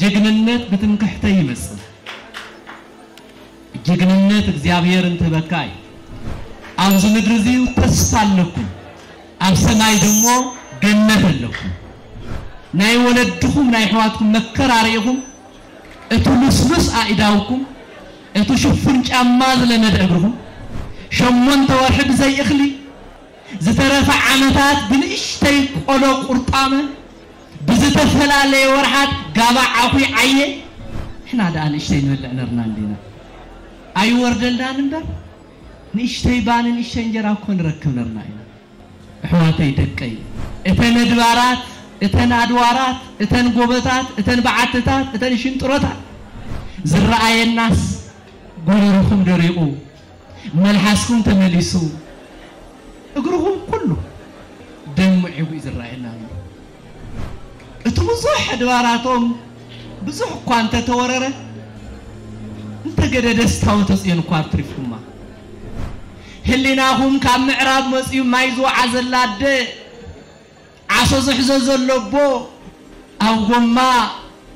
ጅግንነት ብትምክሕተይ ይመጽእ። ጅግንነት እግዚኣብሔር እንትህበካ እዩ። ኣብዚ ምድሪ እዚ ተስፋ ኣለኩም፣ ኣብ ሰማይ ደሞ ገነት ኣለኩም። ናይ ወለድኹም ናይ ኣሕዋትኩም መከራ ርኢኹም፣ እቲ ልስሉስ ኣእዳውኩም፣ እቲ ሽፉን ጫማ ዝለመደ እግርኹም፣ ሸሞንተ ወርሒ ብዘይ እኽሊ፣ ዝተረፈ ዓመታት ብንእሽተይ ቆሎ ቁርጣመ፣ ብዝተፈላለየ ወርሓት ጋባ ዓኹ ዓየ። ንሕና ደኣ ንእሽተይ ንበልዕ ነርና እንዲና። ኣይወርደልናን እምበር፣ ንእሽተይ ባኒ ንእሽተይ እንጀራ እኮ ንረክብ ነርና ኢና። ኣሕዋተይ ደቀይ፣ እተን ኣድባራት፣ እተን ኣድዋራት፣ እተን ጎበታት፣ እተን በዓትታት፣ እተን ሽንጥሮታት ዝረኣየናስ፣ ጎረርኹም ደሪቑ፣ መልሓስኩም ተመሊሱ፣ እግርኹም ኩሉ ደም ምዒጉ እዩ ዝረኣየና ኣሎ። እቲ ብዙሕ ኣድባራቶም ብዙሕ እኳ እንተተወረረ፣ እንተገደደስ ታቦተ ጽዮን እኳ ኣትሪፍኩማ። ህሊናኹም ካብ ምዕራብ መጺኡ ማይ ዝወዓ ዘላ ኣደ፣ ዓሶ ዝሕዞ ዘሎ ኣቦ፣ ኣብ ጎማ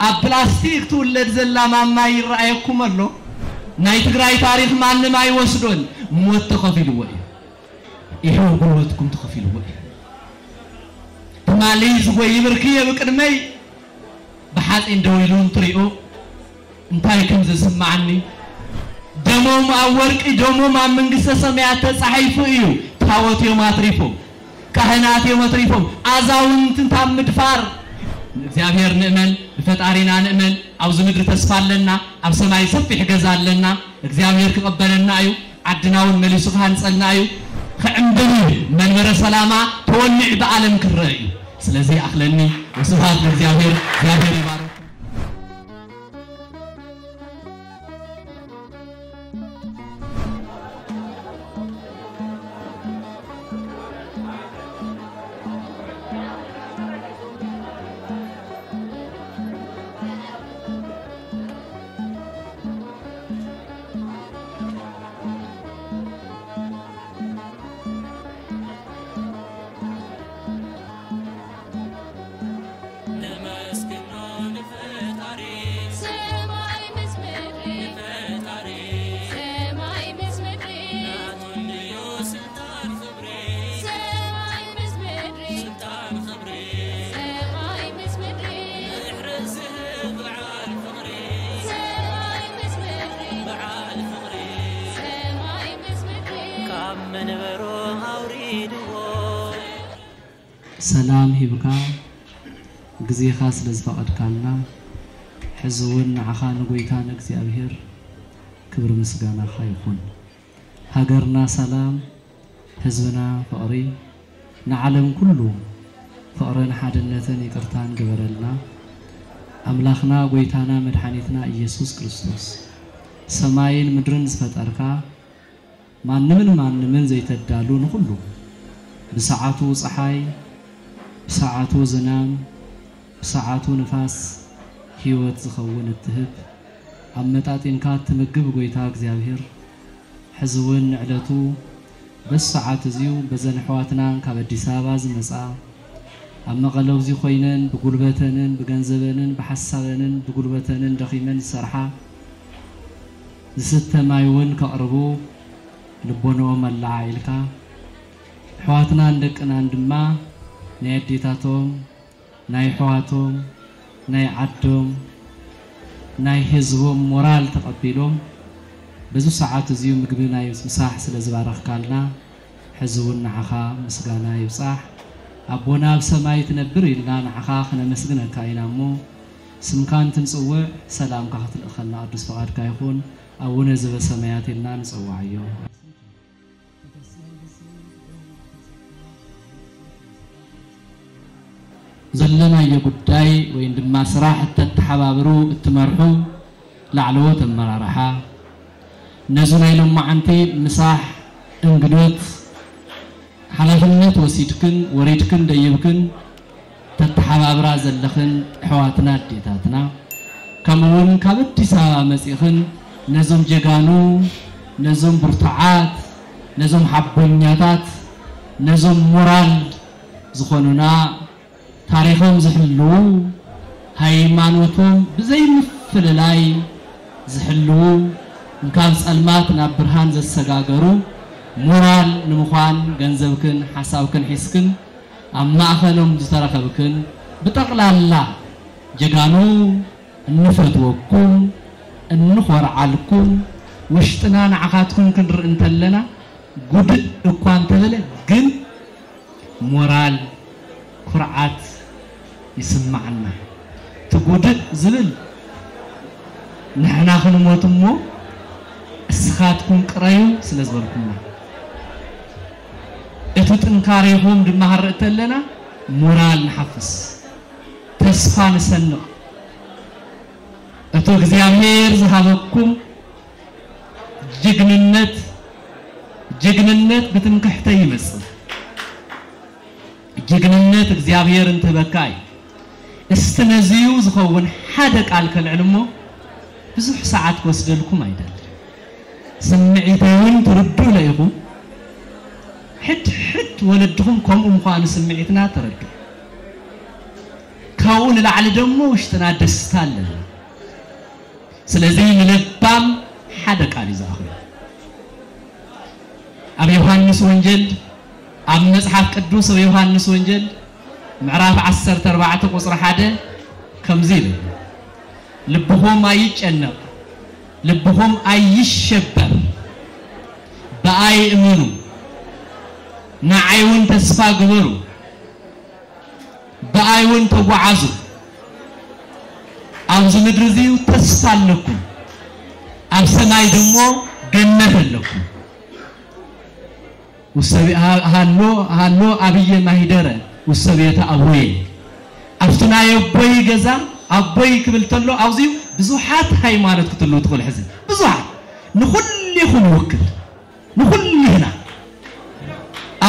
ኣብ ፕላስቲክ ትውለድ ዘላ ማማ ይረኣየኩም ኣሎ። ናይ ትግራይ ታሪኽ ማንም ኣይወስዶን። ሞት ተኸፊልዎ እዩ። ይኸው ጉልበትኩም ተኸፊልዎ እዩ። ትማሊ ዝጎይ ብርክየ ብቅድመይ ብሓፂን ደው ኢሉ እንትሪኦ እንታይ ከም ዝስማዓኒ፣ ደሞም ኣብ ወርቂ፣ ደሞም ኣብ መንግስተ ሰማያት ተጻሒፉ እዩ። ታቦት እዮም ኣትሪፎም፣ ካህናት እዮም ኣትሪፎም፣ ኣዛውንቲ እንታብ ምድፋር። ንእግዚኣብሔር ንእመን፣ ንፈጣሪና ንእመን። ኣብዚ ምድሪ ተስፋ ኣለና፣ ኣብ ሰማይ ሰፊሕ ገዛ ኣለና። እግዚኣብሔር ክቐበለና እዩ። ዓድና እውን መሊሱ ክሃንጸልና እዩ። ክዕምብብ እዩ። መንበረ ሰላማ ተወሊዑ ብዓለም ክረአ እዩ። ስለዚ ይኣኽለኒ። ወስብሐት ለእግዚኣብሔር። እግዚኣብሔር ይባርክ። ሰላም ሂብካ ግዜኻ ስለ ዝፈቐድካልና ሕዚ እውን ንዓኻ ንጎይታ ንእግዚኣብሔር ክብሪ ምስጋናኻ ይኹን። ሃገርና ሰላም፣ ህዝብና ፍቕሪ፣ ንዓለም ኩሉ ፍቕርን ሓድነትን ይቅርታን ግበረልና። ኣምላኽና ጎይታና መድሓኒትና ኢየሱስ ክርስቶስ ሰማይን ምድርን ዝፈጠርካ ማንምን ማንምን ዘይተዳሉ ንኹሉ ብሰዓቱ ፀሓይ ብሰዓቱ ዝናም ብሰዓቱ ንፋስ ህይወት ዝኸውን እትህብ ኣመጣጢንካ እትምግብ ጎይታ እግዚኣብሔር ሕዚ እውን ንዕለቱ በዚ ሰዓት እዚዩ በዘን ኣሕዋትናን ካብ ኣዲስ ኣበባ ዝመፃ ኣብ መቐለውዚ ኮይነን ብጉልበተንን ብገንዘበንን ብሓሳበንን ብጉልበተንን ደኺመን ዝሰርሓ ዝስተ ማይ እውን ከቕርቡ ልቦንኦም ኣለዓዒልካ ኣሕዋትናን ደቅናን ድማ ናይ ኣዴታቶም ናይ ኣሕዋቶም ናይ ዓዶም ናይ ህዝቦም ሞራል ተቐቢሎም በዚ ሰዓት እዚዩ ምግቢ ናይ ምሳሕ ስለ ዝባረኽካልና ሕዚ እውን ንዓኻ ምስጋና ይብጻሕ። ኣቦና ኣብ ሰማይ ትነብር ኢልና ንዓኻ ክነመስግነካ ኢና እሞ ስምካ እንትንጽውዕ ሰላምካ ክትልእኸልና ቅዱስ ፍቓድካ ይኹን። ኣቡነ ዘበሰማያት ኢልና ንጸዋዓዮ። ዘለናዮ ጉዳይ ወይም ድማ ስራሕ እተተሓባብሩ እትመርሑ ላዕለዎት ኣመራርሓ ነዚ ናይ ሎማዓንቲ ምሳሕ እንግዶት ሓላፍነት ወሲድክን ወሪድክን ደይብክን ተተሓባብራ ዘለኽን ኣሕዋትና ኣዴታትና ከምኡ እውን ካብ ኣዲስ ኣበባ መፂእኽን ነዞም ጀጋኑ ነዞም ብርቱዓት ነዞም ሓቦኛታት ነዞም ሞራል ዝኾኑና ታሪኾም ዝሕልዉ ሃይማኖቶም ብዘይምፍልላይ ዝሕልዉ፣ ካብ ጸልማት ናብ ብርሃን ዘሰጋገሩ፣ ሞራል ንምዃን ገንዘብክን ሓሳብክን ሒዝክን ኣብ ማእኸሎም ዝተረኸብክን፣ ብጠቕላላ ጀጋኑ፣ እንፈትወኩም፣ እንኾርዓልኩም፣ ውሽጥና ንዓኻትኩም ክንርኢ እንተለና ጉድእ እኳ እንተበለ፣ ግን ሞራል፣ ኩርዓት ይስማዓና። እቲ ጉድእ ዝብል ንሕና ክንሞት እሞ እስኻትኩም ቅረዩ ስለ ዝበልኩምና፣ እቲ ጥንካሬኹም ድማ ክንርኢ ተለና ሞራል ንሓፍስ፣ ተስፋ ንሰንቕ። እቲ እግዚኣብሔር ዝሃበኩም ጅግንነት፣ ጅግንነት ብትምክሕተይ ይመጽእ። ጅግንነት እግዚኣብሔር እንትህበካ እዩ። እስቲ ነዚዩ ዝኸውን ሓደ ቃል ከልዕል እሞ ብዙሕ ሰዓት ክወስደልኩም ኣይደልን። ስምዒተይ እውን ትርድኡ ኢኹም። ሕድ ሕድ ወለድኹም ከምኡ ምዃኑ ስምዒትና ተረድኡ። ካብኡ ንላዕሊ ደሞ ውሽጥና ደስታ ኣለና። ስለዚ ንለባም ሓደ ቃል እዩ ዝኣኽሎ። ኣብ ዮሃንስ ወንጌል፣ ኣብ መጽሓፍ ቅዱስ ኣብ ዮሃንስ ወንጌል ምዕራፍ ዓሰርተ ኣርባዕተ ቁጽሪ ሓደ ከምዚ ይብል፣ ልብኹም ኣይጨነቕ፣ ልብኹም ኣይሸበር፣ ብኣይ እመኑ፣ ንዓይ እውን ተስፋ ግበሩ፣ ብኣይ እውን ተጓዓዙ። ኣብዚ ምድሪ እዚ ተስፋ ኣለኩም፣ ኣብ ሰማይ ደሞ ገነት ኣለኩም። ውሰብ-፣ ሃ-፣ ሃሎ፣ ሃሎ ኣብየ ማሂደረ ውሰብየተ ኣቡየ። ኣብቲ ናይ ኣቦይ ገዛ፣ ኣቦይ ክብል ተሎ ኣብዚ ብዙሓት ሃይማኖት ክትህልው ትኽእሉ። ሕዚ ብዙሓት፣ ንኹሊኹም ይውክል፣ ንኹሊህና።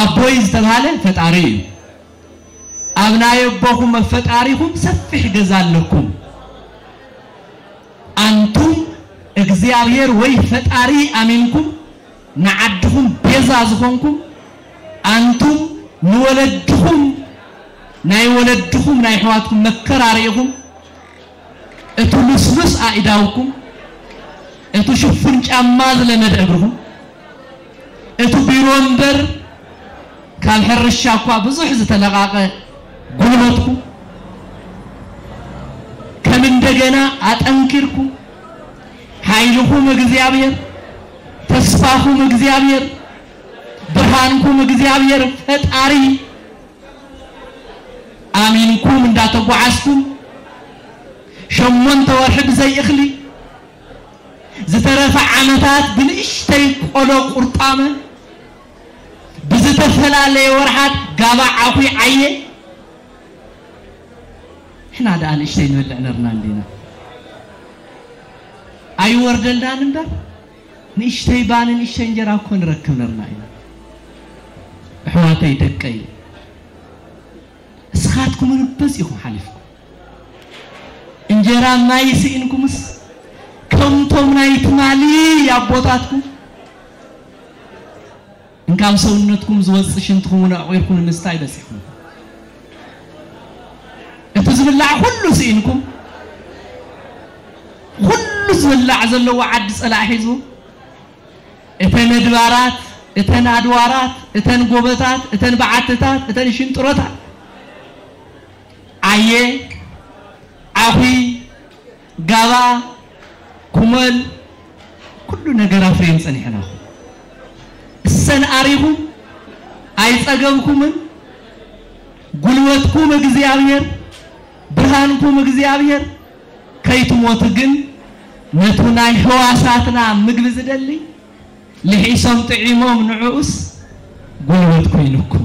ኣቦይ ዝተባህለ ፈጣሪ እዩ። ኣብ ናይ ኣቦኹም ኣብ ፈጣሪኹም ሰፊሕ ገዛ ኣለኩም። ኣንቱም እግዚኣብሔር ወይ ፈጣሪ ኣሚንኩም ንዓድኹም ቤዛ ዝኾንኩም፣ ኣንቱም ንወለድኹም፣ ናይ ወለድኹም ናይ ኣሕዋትኩም መከራ ርኢኹም፣ እቲ ልስሉስ ኣእዳውኩም፣ እቲ ሽፉን ጫማ ዝለመደ እግርኹም፣ እቲ ቢሮ እምበር ካብ ሕርሻ እኳ ብዙሕ ዝተለቓቐ ጉልበትኩም ከም እንደገና ኣጠንኪርኩም፣ ሓይልኹም እግዚኣብሔር፣ ተስፋኹም እግዚኣብሔር፣ ብርሃንኩም እግዚኣብሔር ፈጣሪ ኣሚንኩም እንዳተጓዓዝኩም፣ ሸሞንተ ወርሒ ብዘይ እኽሊ፣ ዝተረፈ ዓመታት ብንእሽተይ ቆሎ ቁርጣመ፣ ብዝተፈላለየ ወርሓት ጋባ ዓኹ ዓየ። ንሕና ደኣ ንእሽተይ ንበልዕ ነርና እንዲና። ኣይወርደልናን እምበር፣ ንእሽተይ ባኒ፣ ንእሽተይ እንጀራ እኮ ንረክብ ነርና ኢና። ኣሕዋተይ፣ ደቀይ፣ እስኻትኩም እውን በዚ ኢኹም ሓሊፍኩም። እንጀራ ማይ ስኢንኩምስ፣ ከምቶም ናይ ትማሊ ኣቦታትኩም፣ እንካብ ሰውነትኩም ዝወጽእ ሽንትኹም እውን ኣዕቑርኩም ንምስታይ በጺሕኩም። እቲ ዝብላዕ ኩሉ ስኢንኩም፣ ኩሉ ዝብላዕ ዘለዎ ዓዲ ጸላእ ሒዙ፣ እተን ኣድባራት፣ እተን ኣድዋራት፣ እተን ጎበታት፣ እተን በዓትታት፣ እተን ሽንጥሮታት፣ ዓየ፣ ዓኹ፣ ጋባ፣ ኩመል፣ ኩሉ ነገር ኣፍርየን ጸኒሐን ኣኹ። እሰን ኣሪኹም ኣይጸገብኩምን። ጉልበትኩም እግዚኣብሔር፣ ብርሃንኩም እግዚኣብሔር፣ ከይትሞቱ ግን ነቱ ናይ ህዋሳትና ምግቢ ዝደሊ ልሒሶም ጥዒሞም ንዕኡስ ጉልበት ኮይኑኩም፣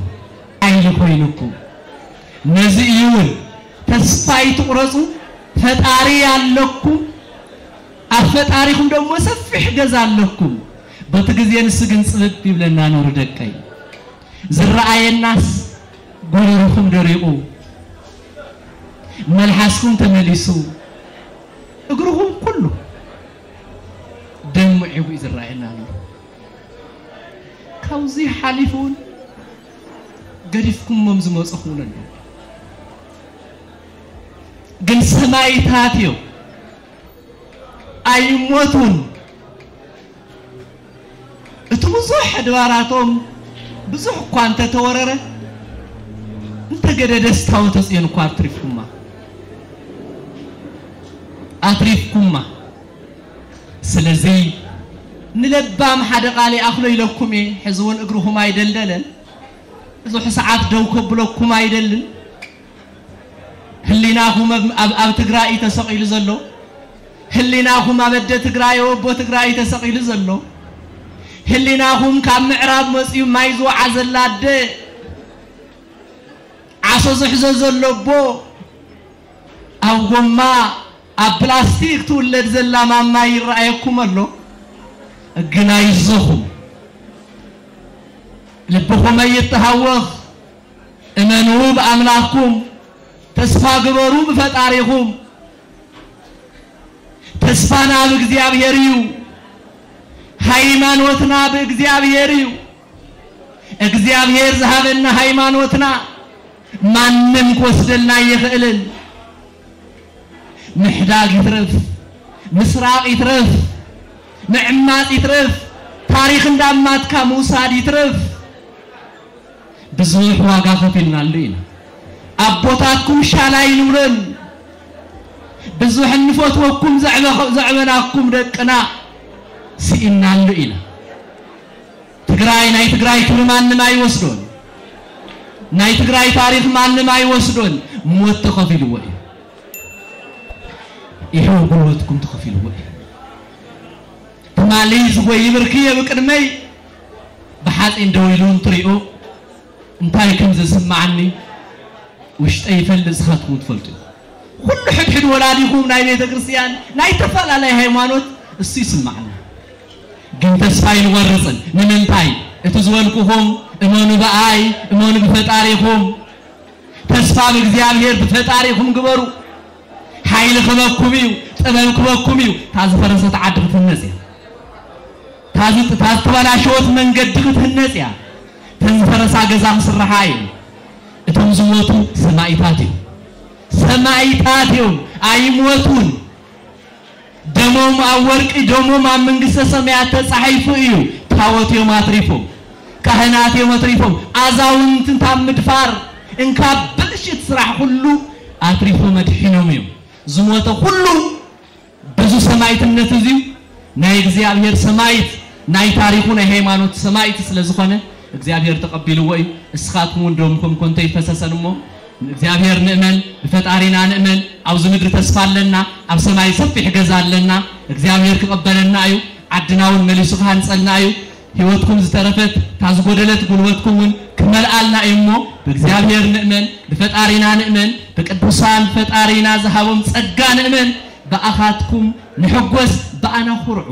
ሓይሊ ኮይኑኩም። ነዚ እዩ እውን ተስፋ ኣይትቑረጹ፣ ፈጣሪ ኣለኩም፣ ኣብ ፈጣሪኹም ደሞ ሰፊሕ ገዛ ኣለኩም። በቲ ግዜ ንሱ ግን ጽብብ ይብለና ኑሩ ደቀይ። ዝረኣየናስ ጎረርኹም ደሪቑ፣ መልሓስኩም ተመሊሱ፣ እግርኹም ኩሉ ደም ምዒጉ እዩ ዝረኣየና ኣሎ። ካብዚ ሓሊፉ እውን ገዲፍኩሞም ዝመፁኹም እውን ኣለዉ። ግን ሰብ ሰማይታት እዮም። ኣይሞቱን። እቲ ብዙሕ ኣድባራቶም ብዙሕ እኳ እንተተወረረ፣ እንተገደደ ስታወተ ጽዮን እኳ ኣትሪፍኩማ። ኣትሪፍኩማ። ስለዚ ንለባም ሓደ ቃል ይኣኽሎ ኢለኩም እየ። ሕዚ እውን እግርኹም ኣይደልደለን። ብዙሕ ሰዓት ደው ከብለኩም ኣይደልን። ህሊናኹም ኣብ፣ ኣብ፣ ኣብ ትግራይ እዩ ተሰቒሉ ዘሎ። ህሊናኹም ኣብ ኣደ ትግራይ፣ ኣብ ኣቦ ትግራይ እዩ ተሰቒሉ ዘሎ። ህሊናኹም ካብ ምዕራብ መፅዩ ማይ ዝወዓዘላ ኣደ፣ ዓሶ ዝሕዞ ዘሎ ኣቦ፣ ኣብ ጎማ፣ ኣብ ፕላስቲክ ትውለድ ዘላ ማማ ይረኣየኩም ኣሎ። ግን ኣይዞኹም፣ ልብኹም ኣይተሃወኽ። እመኑ ብኣምላኽኩም፣ ተስፋ ግበሩ ብፈጣሪኹም። ተስፋና ብእግዚኣብሔር እዩ። ሃይማኖትና ብእግዚኣብሔር እዩ። እግዚኣብሔር ዝሃበና ሃይማኖትና ማንም ክወስደልና ኣይኽእልን። ምሕዳግ ይትረፍ፣ ምስራቕ ይትረፍ፣ ምዕማፅ ይትረፍ፣ ታሪኽ እንዳማትካ ምውሳድ ይትረፍ። ብዙሕ ዋጋ ከፊልናሉ ኢና። ኣቦታትኩም ሻላ ኣይንብሎን። ብዙሕ እንፈትወኩም ዘዕበ-፣ ዘዕበናኩም ደቅና ስኢናሉ ኢና። ትግራይ፣ ናይ ትግራይ ክብሪ ማንም ኣይወስዶን። ናይ ትግራይ ታሪኽ ማንም ኣይወስዶን። ሞት ተኸፊልዎ እዩ። ይኸው ጉልበትኩም ተኸፊልዎ እዩ። ትማሊ ዝጎይ ብርኪ የብ ቅድመይ ብሓፂን ደው ኢሉ እንትሪኦ እንታይ ከም ዘስምዓኒ ውሽጠይ ይፈልጥ፣ ንስኻትኩም ትፈልጡ ኢኹም። ኩሉ ሕድሕድ ወላዲኹም ናይ ቤተ ክርስቲያን ናይ ተፈላለየ ሃይማኖት እሱ ይስምዓና። ግን ተስፋ ኣይንቆርፅን። ንምንታይ? እቲ ዝበልኩኹም እመኑ ብኣይ፣ እመኑ ብፈጣሪኹም። ተስፋ ብእግዚኣብሔር ብፈጣሪኹም ግበሩ። ሓይሊ ክበኩም እዩ፣ ጥበብ ክበኩም እዩ። እታ ዝፈረሰት ዓዲ ክትህነፅ እያ። እታ ዝ-፣ እታ ዝተበላሸወት መንገዲ ክትህነፅ እያ። እተን ዝፈረሳ ገዛ ክስርሓ እዩ። እቶም ዝሞቱ ሰማኢታት እዮም። ሰማኢታት እዮም፣ ኣይሞቱን። ደሞም ኣብ ወርቂ፣ ደሞም ኣብ መንግስተ ሰማያት ተጻሒፉ እዩ። ታቦት እዮም ኣትሪፎም፣ ካህናት እዮም ኣትሪፎም፣ ኣዛውንቲ እንካብ ምድፋር፣ እንካብ ብልሽት ስራሕ ኩሉ ኣትሪፎም ኣድሒኖም እዮም። ዝሞተ ኩሉ በዚ ሰማይትነት እዚ ናይ እግዚኣብሔር ሰማይት፣ ናይ ታሪኹ ናይ ሃይማኖት ሰማይት ስለ ዝኾነ እግዚኣብሔር ተቐቢልዎ እዩ። እስኻትኩም እውን ደምኩም ኮንቶ ይፈሰሰን እሞ እግዚኣብሔር ንእመን፣ ብፈጣሪና ንእመን። ኣብዚ ምድሪ ተስፋ ኣለና፣ ኣብ ሰማይ ሰፊሕ ገዛ ኣለና። እግዚኣብሔር ክቐበለና እዩ፣ ዓድና እውን መሊሱ ክሃንጸልና እዩ። ህይወትኩም ዝተረፈት እታ ዝጎደለት ጉልበትኩም እውን ክመልኣልና እዩ እሞ ብእግዚኣብሔር ንእመን፣ ብፈጣሪና ንእመን፣ ብቅዱሳን ፈጣሪና ዝሃቦም ጸጋ ንእመን። ብኣኻትኩም ንሕጎስ፣ ብኣና ኩርዑ።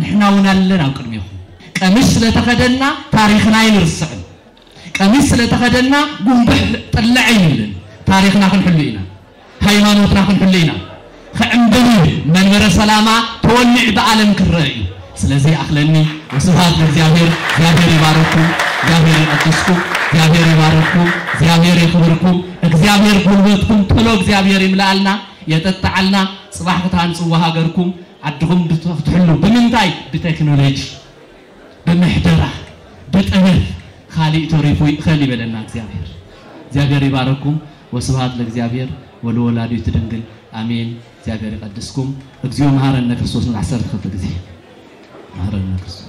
ንሕና እውን ኣለና ኣብ ቅድሜኹም። ቀሚሽ ስለተኸደና ታሪኽና ኣይንርስዕን። ቀሚሽ ስለተኸደና ጉንብሕ ጥልዕ ኣይንብልን። ታሪኽና ክንሕሉ ኢና። ሃይማኖትና ክንሕሉ ኢና። ክዕምብብ እዩ። መንበረ ሰላማ ተወሊዑ ብዓለም ክረአ እዩ። ስለዚ ይኣኽለኒ። ወስብሐት ለእግዚኣብሔር። እግዚኣብሔር ይባርኩም። እግዚኣብሔር ይቀድስኩም። እግዚኣብሔር ይባርኩም። እግዚኣብሔር የኽብርኩም። እግዚኣብሔር ጉልበትኩም ቶሎ እግዚኣብሔር ይምልኣልና፣ የጠጥዓልና። ጽባሕ ክትሃንጽዎ ሃገርኩም፣ ዓድኹም ብት-፣ ክትሕሉ። ብምንታይ? ብቴክኖሎጂ፣ ብምሕደራ፣ ብጥበብ። ካሊእ ተሪፉ ይእኸል ይበለና እግዚኣብሔር። እግዚኣብሔር ይባረኩም። ወስብሐት ለእግዚኣብሔር ወለወላዲቱ ድንግል ኣሜን። እግዚኣብሔር ይቀድስኩም። እግዚኦ መሐረነ ክርስቶስ ንዓሰርተ ክልተ ግዜ። መሐረነ ክርስቶስ።